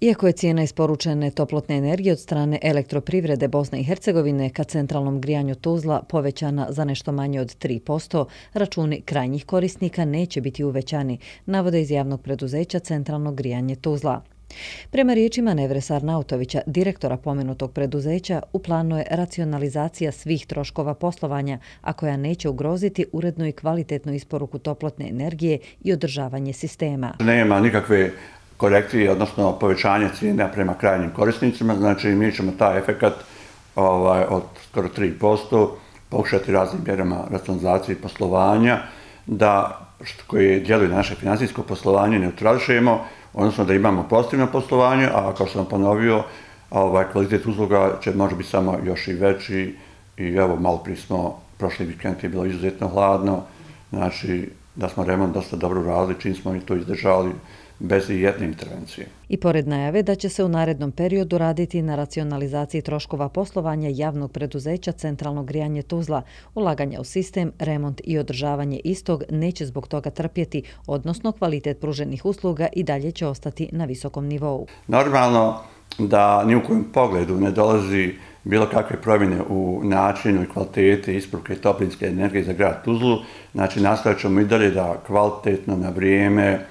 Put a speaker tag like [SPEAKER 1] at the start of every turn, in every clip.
[SPEAKER 1] Iako je cijena isporučene toplotne energije od strane Elektroprivrede Bosne i Hercegovine ka centralnom grijanju Tuzla povećana za nešto manje od 3%, računi krajnjih korisnika neće biti uvećani, navode iz javnog preduzeća Centralno grijanje Tuzla. Prema riječima Nevre Sarnautovića, direktora pomenutog preduzeća, u planu je racionalizacija svih troškova poslovanja, a koja neće ugroziti urednu i kvalitetnu isporuku toplotne energije i održavanje sistema.
[SPEAKER 2] Nema nikakve korekcije, odnosno povećanje cijena prema krajnjim korisnicima, znači mi ćemo taj efekat od skoro 3% pokušati raznim mjerama racionalizacije poslovanja, da koje djeluju na naše financijsko poslovanje neutrališemo, odnosno da imamo pozitivno poslovanje, a kao što sam ponovio, kvalitet usluga će može biti samo još i veći i evo malo prije smo, prošli vikend je bilo izuzetno hladno, znači da smo remont dosta dobro radili, čim smo i to izdržali bez jedne intervencije.
[SPEAKER 1] I pored najave da će se u narednom periodu raditi na racionalizaciji troškova poslovanja javnog preduzeća Centralno grijanje Tuzla, ulaganja u sistem, remont i održavanje istog neće zbog toga trpjeti, odnosno kvalitet pruženih usluga i dalje će ostati na visokom nivou.
[SPEAKER 2] Normalno da ni u kojem pogledu ne dolazi bilo kakve promjene u načinu i kvaliteti isporuke toplinske energije za grad Tuzlu, znači nastavit ćemo i dalje da kvalitetno na vrijeme,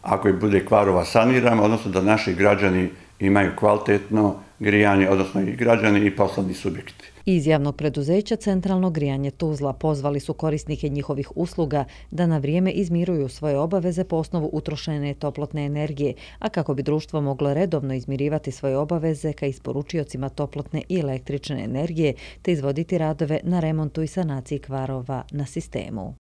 [SPEAKER 2] ako i bude kvarova, saniramo, odnosno da naši građani imaju kvalitetno grijanje, odnosno i građani i poslovni subjekti.
[SPEAKER 1] Iz javnog preduzeća Centralno grijanje Tuzla pozvali su korisnike njihovih usluga da na vrijeme izmiruju svoje obaveze po osnovu utrošene toplotne energije, a kako bi društvo moglo redovno izmirivati svoje obaveze ka isporučiocima toplotne i električne energije te izvoditi radove na remontu i sanaciji kvarova na sistemu.